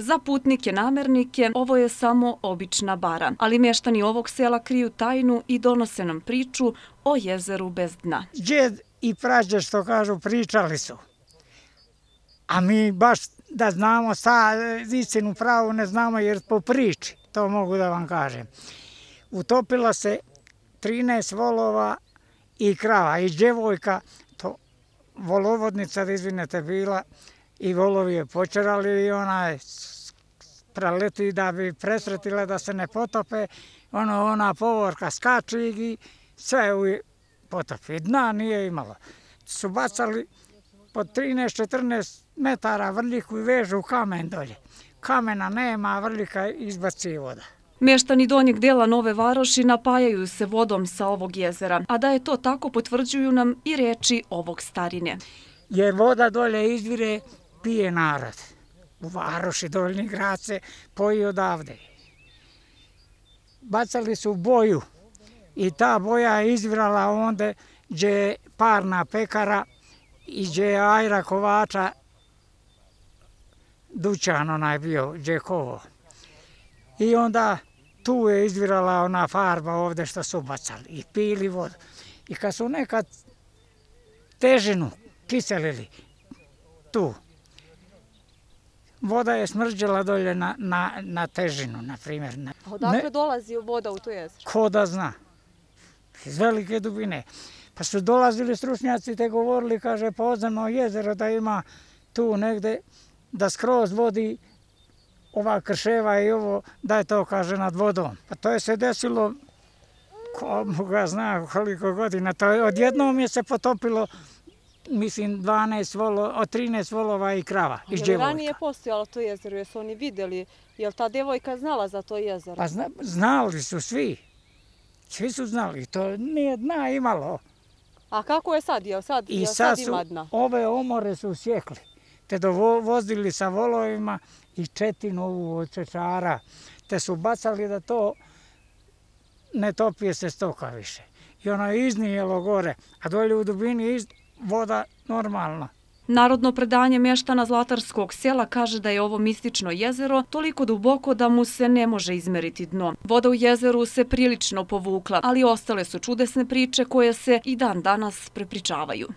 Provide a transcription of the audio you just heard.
Za putnike namernike ovo je samo obična bara, ali mještani ovog sela kriju tajnu i donose nam priču o jezeru bez dna. Džed i prađe, što kažu, pričali su. A mi baš da znamo istinu pravu ne znamo jer po priči, to mogu da vam kažem. Utopila se 13 volova i krava i djevojka, to volovodnica, da izvinete, bila i volovi je počerali i ona je preleti da bi presretila da se ne potope, ona povorka skači i sve u potopi. Dna nije imalo. Su bacali po 13-14 metara vrljiku i vežu kamen dolje. Kamena nema, a vrljika izbaci voda. Mještani donjeg dela Nove Varoši napajaju se vodom sa ovog jezera, a da je to tako potvrđuju nam i riječi ovog starine. Jer voda dolje izvire, pije narod. U Varoši, Donji grad se poji odavde. Bacali su boju i ta boja je izvirala onda gdje je parna pekara i gdje je Ajra Kovača dućan onaj bio, gdje je kovo. I onda tu je izvirala ona farba ovdje što su bacali i pili vodu. I kad su nekad težinu kiselili tu, voda je smrđala dolje na težinu, na primjer. Odakle dolazi voda u to jezero? Ko da zna. Iz velike dubine. Pa su dolazili stručnjaci te govorili, kaže, podzemno jezero da ima tu negde, da skroz vodi ova krševa i ovo, da je to, kaže, nad vodom. Pa to je se desilo, ko ga zna koliko godina, to je odjednom je se potopilo, mislim, 13 volova i krava iz djevojka. Je li ranije postojalo to jezero, jesu oni vidjeli, je li ta djevojka znala za to jezero? Pa znali su svi, svi su znali, to nije dna imalo. A kako je sad, sad ima dna? Ove omore su sjekli, te dovozili sa volovima i četinu ovu od čečara, te su bacali da to ne topije se stoka više. I ono je iznijelo gore, a dolje u dubini voda normalna. Narodno predanje mještana Zlatarskog sela kaže da je ovo mistično jezero toliko duboko da mu se ne može izmeriti dno. Voda u jezeru se prilično povukla, ali ostale su čudesne priče koje se i dan danas prepričavaju.